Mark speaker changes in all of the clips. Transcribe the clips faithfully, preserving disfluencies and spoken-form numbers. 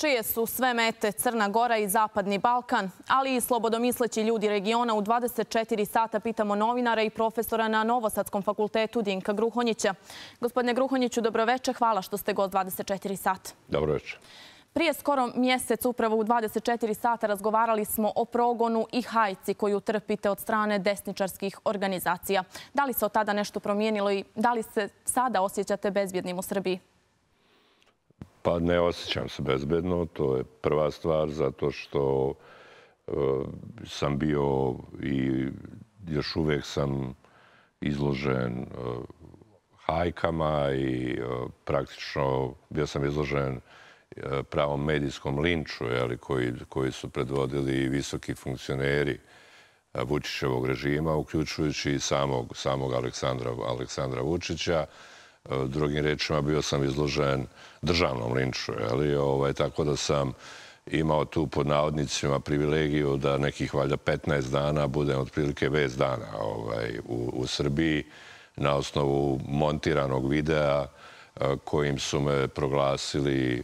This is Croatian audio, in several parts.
Speaker 1: čije su sve mete Crna Gora i Zapadni Balkan, ali i slobodomisleći ljudi regiona. U dvadeset četiri sata pitamo novinara i profesora na Novosadskom fakultetu Dinka Gruhonjića. Gospodine Gruhonjiću, dobroveče. Hvala što ste gost dvadeset četiri sata.
Speaker 2: Dobroveče.
Speaker 1: Prije skoro mjesec, upravo u dvadeset četiri sata, razgovarali smo o progonu i hajci koju trpite od strane desničarskih organizacija. Da li se od tada nešto promijenilo i da li se sada osjećate bezbjednim u Srbiji?
Speaker 2: Pa ne osjećam se bezbedno, to je prva stvar, zato što e, sam bio i još uvijek sam izložen e, hajkama i e, praktično bio sam izložen e, pravom medijskom linču, jeli, koji, koji su predvodili visoki funkcioneri e, Vučićevog režima, uključujući i samog, samog Aleksandra, Aleksandra Vučića. Drugim rečima, bio sam izložen državnom linču, jeli, ovaj, tako da sam imao tu pod navodnicima privilegiju da nekih valjda petnaest dana budem otprilike bez dana ovaj, u, u Srbiji na osnovu montiranog videa kojim su me proglasili,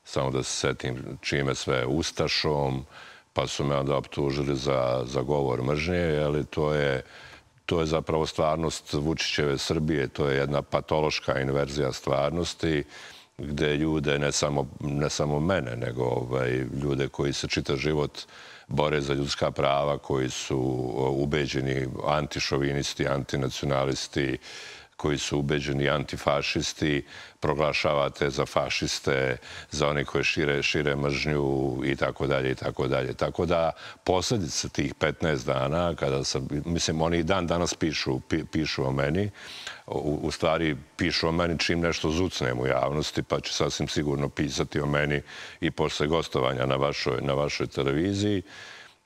Speaker 2: samo da se setim čime sve, ustašom, pa su me onda optužili za, za govor mržnje, jeli, to je To je zapravo stvarnost Vučićeve Srbije. To je jedna patološka inverzija stvarnosti gde ljude, ne samo, ne samo mene, nego ovaj, ljude koji se čitav život bore za ljudska prava, koji su ubeđeni antišovinisti, antinacionalisti, koji su ubeđeni antifašisti, proglašavate za fašiste, za one koje šire, šire mržnju i tako dalje i tako dalje. Tako da posljedice tih petnaest dana, kada sam, mislim, oni i dan danas pišu, pi, pišu o meni, u, u stvari pišu o meni čim nešto zucnem u javnosti, pa će sasvim sigurno pisati o meni i posle gostovanja na vašoj, na vašoj televiziji.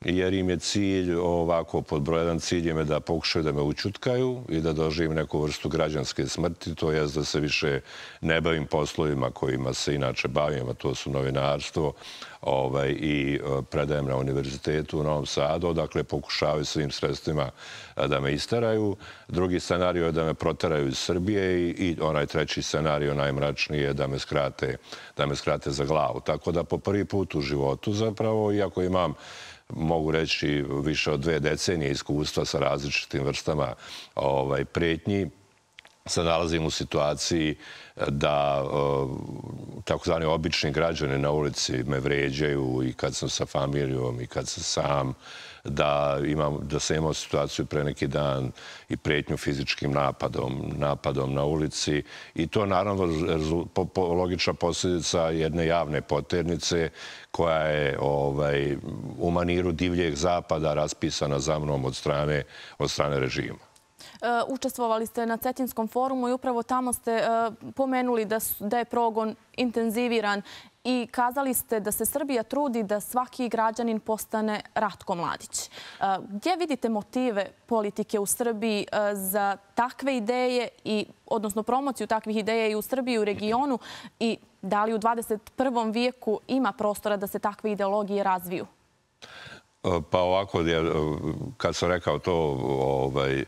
Speaker 2: Jer im je cilj, ovako, pod broj jedan cilj je da pokušaju da me ućutkaju i da doživim neku vrstu građanske smrti, to je da se više ne bavim poslovima kojima se inače bavim, a to su novinarstvo ovaj, i predajem na univerzitetu u Novom Sadu, dakle pokušavaju svim sredstvima da me isteraju. Drugi scenario je da me proteraju iz Srbije i, i onaj treći scenario, najmračniji, je da me skrate, da me skrate za glavu. Tako da po prvi put u životu zapravo, iako imam mogu reći više od dve decenije iskustva sa različitim vrstama ovaj, pretnji, se nalazim u situaciji da takozvani obični građani na ulici me vređaju i kad sam sa familijom i kad sam sam, da, imam, da sam imao situaciju pre neki dan i pretnju fizičkim napadom, napadom na ulici. I to naravno po, po, logična posljedica jedne javne poternice koja je ovaj, u maniru divljeg zapada raspisana za mnom od strane, od strane režima.
Speaker 1: Učestvovali ste na Cetinskom forumu i upravo tamo ste pomenuli da, da je progon intenziviran i kazali ste da se Srbija trudi da svaki građanin postane Ratko Mladić. Gdje vidite motive politike u Srbiji za takve ideje, i, odnosno promociju takvih ideja i u Srbiji i u regionu, i da li u dvadeset prvom vijeku ima prostora da se takve ideologije razviju?
Speaker 2: Pa ovako, kad sam rekao to ovaj,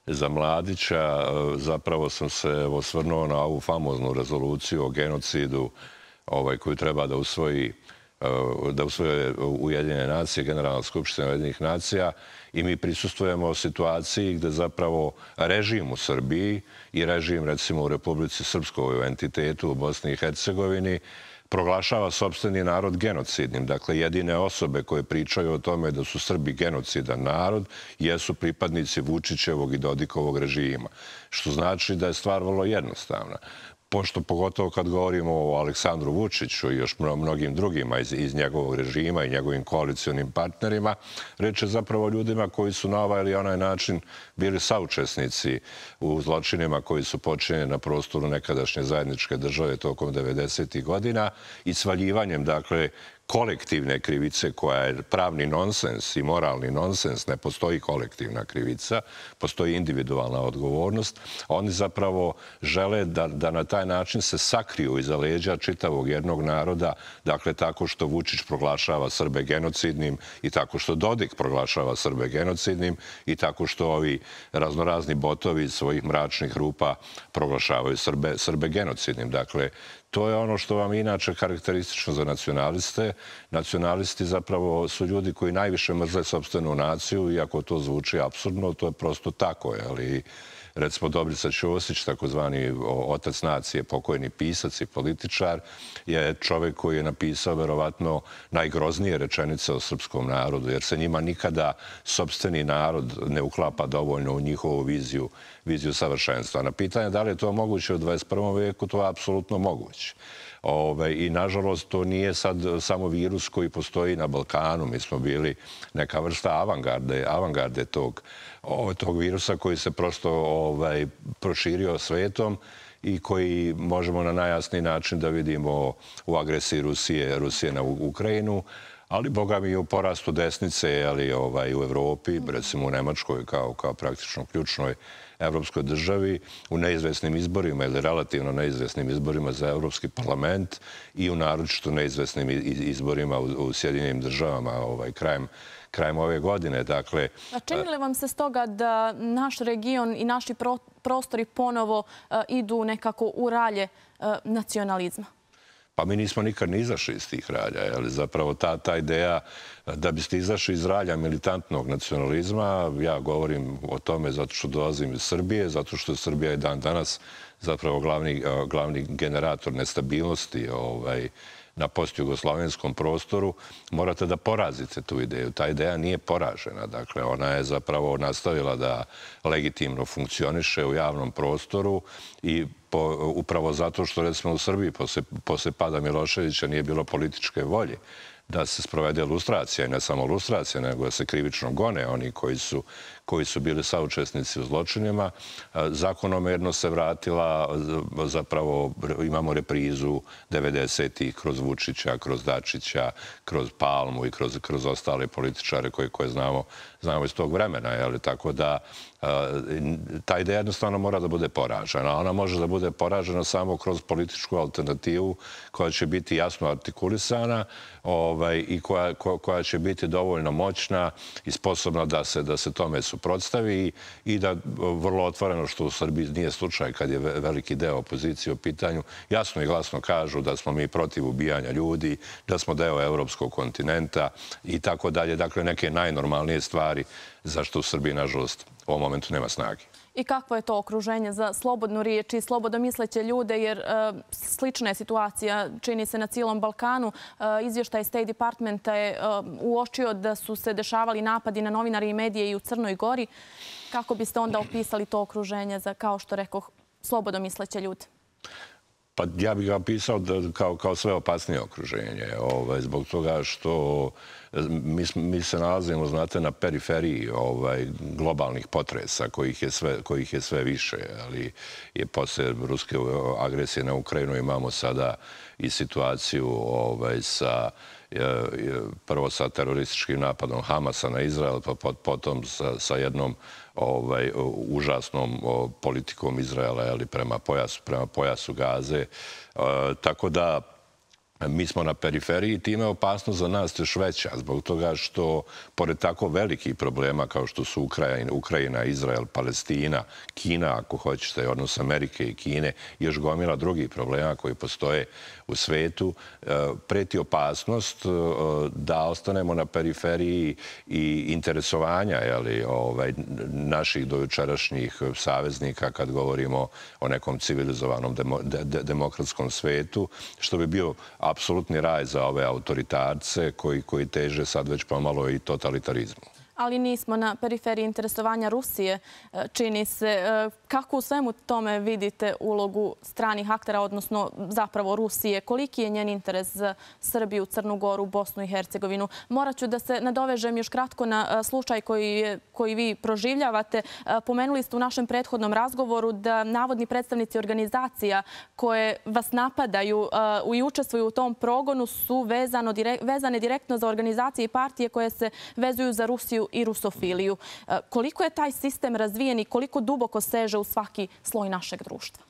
Speaker 2: za Mladića, zapravo sam se osvrnuo na ovu famoznu rezoluciju o genocidu ovaj, koju treba da usvoji da usvoje Ujedinjene nacije, Generalna skupština Ujedinjenih nacija, i mi prisustvujemo situaciji gde zapravo režim u Srbiji i režim, recimo, u Republici Srpskoj, u entitetu u Bosni i Hercegovini, proglašava sopstveni narod genocidnim. Dakle, jedine osobe koje pričaju o tome da su Srbi genocidan narod jesu pripadnici Vučićevog i Dodikovog režima. Što znači da je stvar vrlo jednostavna. Pošto pogotovo kad govorimo o Aleksandru Vučiću i još mnogim drugima iz, iz njegovog režima i njegovim koalicionim partnerima, reč je zapravo ljudima koji su na ovaj ili onaj način bili saučesnici u zločinima koji su počinjeni na prostoru nekadašnje zajedničke države tokom devedesetih godina i svaljivanjem, dakle, kolektivne krivice koja je pravni nonsens i moralni nonsens. Ne postoji kolektivna krivica, postoji individualna odgovornost. Oni zapravo žele da, da na taj način se sakriju iza leđa čitavog jednog naroda, dakle tako što Vučić proglašava Srbe genocidnim i tako što Dodik proglašava Srbe genocidnim i tako što ovi raznorazni botovi iz svojih mračnih rupa proglašavaju Srbe, Srbe genocidnim. Dakle, To je ono što vam je inače karakteristično za nacionaliste. Nacionalisti zapravo su ljudi koji najviše mrze sopstvenu naciju, iako to zvuči apsurdno, to je prosto tako. Ali, recimo, Dobrica Ćosić, takozvani otac nacije, pokojni pisac i političar, je čovjek koji je napisao verovatno najgroznije rečenice o srpskom narodu, jer se njima nikada sopstveni narod ne uklapa dovoljno u njihovu viziju, viziju savršenstva. Na pitanje da li je to moguće u dvadeset prvom veku, to je apsolutno moguće. I, nažalost, to nije sad samo virus koji postoji na Balkanu. Mi smo bili neka vrsta avangarde, avangarde tog, tog virusa koji se prosto ovaj, proširio svetom i koji možemo na najjasniji način da vidimo u agresiji Rusije, Rusije na Ukrajinu, ali, boga mi, i u porastu desnice, ali ovaj, u Evropi, recimo u Nemačkoj kao, kao praktično ključnoj evropskoj državi, u neizvesnim izborima ili relativno neizvesnim izborima za Evropski parlament i u naročito neizvesnim izborima u Sjedinjenim državama ovaj, krajem, krajem ove godine. Dakle,
Speaker 1: a čini li vam se stoga da naš region i naši prostori ponovo uh, idu nekako u ralje uh, nacionalizma?
Speaker 2: Pa mi nismo nikad ni izašli iz tih ralja. Ali zapravo ta, ta ideja da biste izašli iz ralja militantnog nacionalizma, ja govorim o tome zato što dolazim iz Srbije, zato što je Srbija i dan danas zapravo glavni, glavni generator nestabilnosti ovaj, na postjugoslavenskom prostoru, morate da porazite tu ideju. Ta ideja nije poražena. Dakle, ona je zapravo nastavila da legitimno funkcioniše u javnom prostoru i po, upravo zato što, recimo, u Srbiji posle, posle pada Miloševića nije bilo političke volje da se sprovede lustracija, i ne samo lustracija, nego da se krivično gone oni koji su, koji su bili saučesnici u zločinima. Zakonomerno se vratila, zapravo imamo reprizu devedesetih kroz Vučića, kroz Dačića, kroz Palmu i kroz, kroz ostale političare koje, koje znamo, znamo iz tog vremena. Jeli? Tako da ta ideja jednostavno mora da bude poražena. Ona može da bude poražena samo kroz političku alternativu koja će biti jasno artikulisana ovaj, i koja, koja će biti dovoljno moćna i sposobna da se, da se tome suprotstavi i da vrlo otvoreno, što u Srbiji nije slučaj kad je veliki deo opozicije u pitanju, jasno i glasno kažu da smo mi protiv ubijanja ljudi, da smo deo evropskog kontinenta i tako dalje. Dakle, neke najnormalnije stvari zašto u Srbiji, nažalost, u ovom momentu nema snage.
Speaker 1: I kakvo je to okruženje za slobodnu riječ i slobodomisleće ljude, jer uh, slična je situacija, čini se, na cijelom Balkanu. Uh, izvještaj State Departmenta je uh, uočio da su se dešavali napadi na novinari i medije i u Crnoj Gori. Kako biste onda opisali to okruženje za, kao što rekoh, slobodomisleće ljude?
Speaker 2: Pa ja bih ga opisao da, kao, kao sve opasnije okruženje. Ovaj, zbog toga što mi, mi se nalazimo, znate, na periferiji ovaj, globalnih potresa kojih je sve, kojih je sve više. Ali je posle ruske agresije na Ukrajinu imamo sada i situaciju ovaj, sa prvo sa terorističkim napadom Hamasa na Izrael, pa potom sa, sa jednom ovaj, užasnom o, politikom Izraela ali prema pojasu, prema pojasu Gaze. E, tako da mi smo na periferiji i time je opasnost za nas još veća zbog toga što, pored tako velikih problema kao što su Ukrajina, Ukrajina, Izrael, Palestina, Kina, ako hoćete, odnos Amerike i Kine, još gomila drugih problema koji postoje u svetu, preti opasnost da ostanemo na periferiji i interesovanja jeli, ovaj, naših dojučerašnjih saveznika kad govorimo o nekom civilizovanom demo, de, de, demokratskom svetu, što bi bio apsolutni raj za ove autoritarce koji, koji teže sad već pomalo i totalitarizmu.
Speaker 1: Ali nismo na periferiji interesovanja Rusije, čini se. Kako u svemu tome vidite ulogu stranih aktera, odnosno zapravo Rusije? Koliki je njen interes za Srbiju, Crnu Goru, Bosnu i Hercegovinu? Morat ću da se nadovežem još kratko na slučaj koji, koji vi proživljavate. Pomenuli ste u našem prethodnom razgovoru da navodni predstavnici organizacija koje vas napadaju i učestvuju u tom progonu su vezano, vezane direktno za organizacije i partije koje se vezuju za Rusiju i rusofiliju. Koliko je taj sistem razvijen i koliko duboko seže u svaki sloj našeg društva?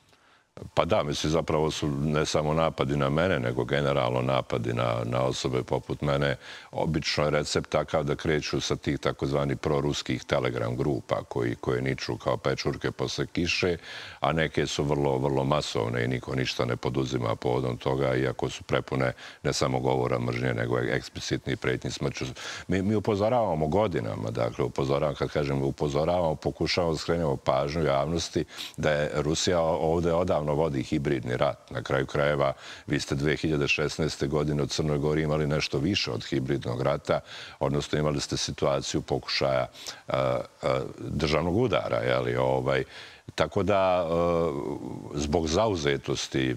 Speaker 2: Pa da, mislim, zapravo su ne samo napadi na mene, nego generalno napadi na, na osobe poput mene. Obično je recept takav da kreću sa tih takozvani proruskih telegram grupa koji, koje niču kao pečurke posle kiše, a neke su vrlo, vrlo masovne i niko ništa ne poduzima povodom toga, iako su prepune ne samo govora mržnje, nego eksplicitni pretnji smrću. Mi, mi upozoravamo godinama, dakle, upozoravamo, kad kažem upozoravamo, pokušavamo da skrenemo pažnju javnosti da je Rusija ovde odavno vodi hibridni rat. Na kraju krajeva, vi ste dve hiljade šesnaeste. godine u Crnoj Gori imali nešto više od hibridnog rata, odnosno imali ste situaciju pokušaja uh, uh, državnog udara, jeli, ovaj, tako da, zbog zauzetosti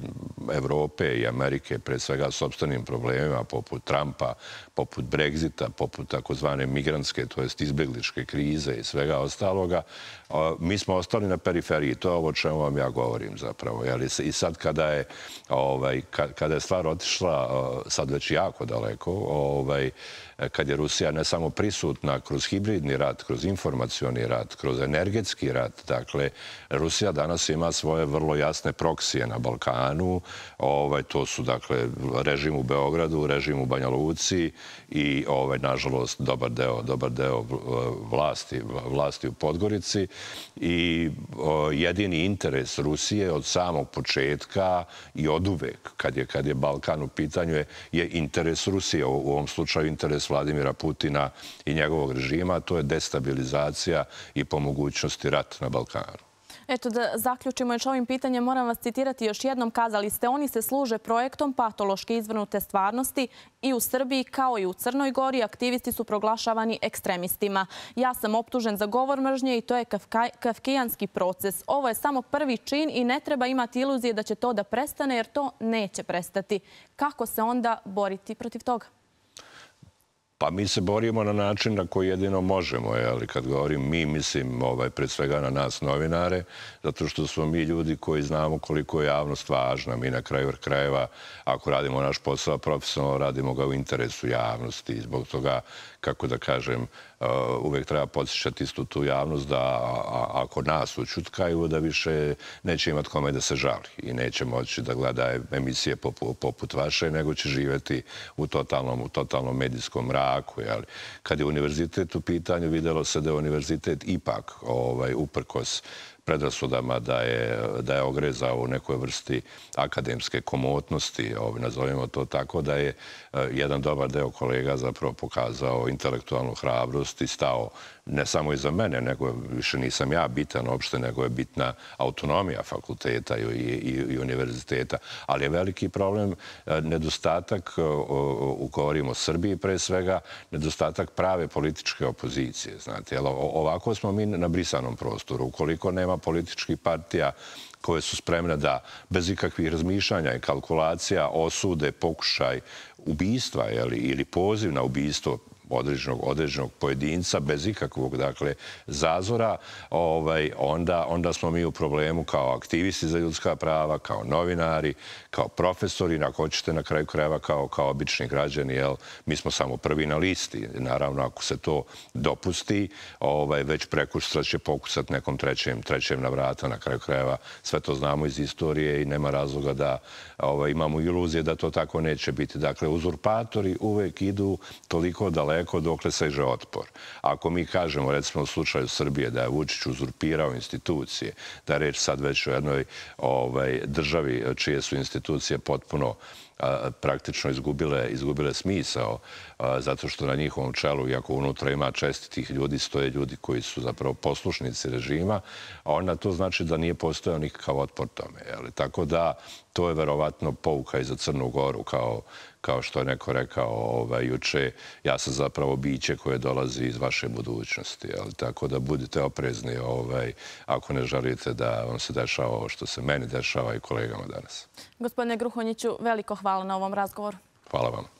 Speaker 2: Evrope i Amerike, pre svega sopstvenim problemima, poput Trumpa, poput Brexita, poput takozvane migrantske, to jest izbjegličke krize i svega ostaloga, mi smo ostali na periferiji. To je ovo o čemu vam ja govorim zapravo. I sad kada je, ovaj, kada je stvar otišla sad već jako daleko, ovaj, kad je Rusija ne samo prisutna kroz hibridni rat, kroz informacioni rat, kroz energetski rat, dakle, Rusija danas ima svoje vrlo jasne proksije na Balkanu. Ovaj, to su, dakle, režim u Beogradu, režim u Banja Luci i, ovaj, nažalost, dobar deo, dobar deo vlasti, vlasti u Podgorici. I o, jedini interes Rusije od samog početka i od uvek, kad je, kad je Balkan u pitanju, je, je interes Rusije, u, u ovom slučaju interes Vladimira Putina i njegovog režima, to je destabilizacija i po mogućnosti rat na Balkanu.
Speaker 1: Eto, da zaključimo još ovim pitanjem, moram vas citirati još jednom. Kazali ste, oni se služe projektom patološke izvrnute stvarnosti i u Srbiji kao i u Crnoj Gori. Aktivisti su proglašavani ekstremistima. Ja sam optužen za govor mržnje i to je kafkijanski proces. Ovo je samo prvi čin i ne treba imati iluzije da će to da prestane, jer to neće prestati. Kako se onda boriti protiv toga?
Speaker 2: Pa mi se borimo na način na koji jedino možemo, ali kad govorim mi, mislim ovaj, pred svega na nas novinare, zato što smo mi ljudi koji znamo koliko je javnost važna. Mi na kraju krajeva, ako radimo naš posao profesionalno, radimo ga u interesu javnosti i zbog toga, kako da kažem, uvek treba podsjećati istu tu javnost da ako nas učutkaju, da više neće imati kome da se žali i neće moći da gleda emisije poput vaše, nego će živjeti u totalnom, u totalnom medijskom mraku. Kad je univerzitet u pitanju, videlo se da je univerzitet ipak ovaj, uprkos predrasudama da je, da je ogrezao u nekoj vrsti akademske komotnosti, ovaj, nazovimo to tako, da je jedan dobar deo kolega zapravo pokazao intelektualnu hrabrost i stao ne samo iza mene, nego više nisam ja bitan uopšte, nego je bitna autonomija fakulteta i, i, i univerziteta. Ali je veliki problem nedostatak, govorimo o Srbiji pre svega, nedostatak prave političke opozicije. Znate, ovako smo mi na brisanom prostoru. Ukoliko nema političkih partija koje su spremne da bez ikakvih razmišljanja i kalkulacija osude pokušaj ubistva, jeli, ili poziv na ubistvo određenog, određenog pojedinca bez ikakvog, dakle, zazora, ovaj, onda, onda smo mi u problemu kao aktivisti za ljudska prava, kao novinari, kao profesori, ako hoćete na kraju krajeva kao, kao obični građani, jel, mi smo samo prvi na listi. Naravno, ako se to dopusti, ovaj, već prekustra će pokusati nekom trećem, trećem na vrata, na kraju krajeva. Sve to znamo iz istorije i nema razloga da ovaj, imamo iluzije da to tako neće biti. Dakle, uzurpatori uvek idu toliko daleko dokle seže otpor. Ako mi kažemo, recimo u slučaju Srbije, da je Vučić uzurpirao institucije, da je reč sad već o jednoj ovaj, državi čije su institucije potpuno praktično izgubile, izgubile smisao, zato što na njihovom čelu, iako unutra ima čestitih ljudi, stoje ljudi koji su zapravo poslušnici režima, a onda to znači da nije postojao nikakav otpor tome. Jeli? Tako da to je verovatno pouka i za Crnu Goru, kao, kao što je neko rekao ovaj, juče, ja sam zapravo biće koje dolazi iz vaše budućnosti. Jeli? Tako da budite oprezni ovaj, ako ne želite da vam se dešava ovo što se meni dešava i kolegama danas.
Speaker 1: Gospodine Gruhonjiću, veliko hvala na ovom razgovoru.
Speaker 2: Hvala vam.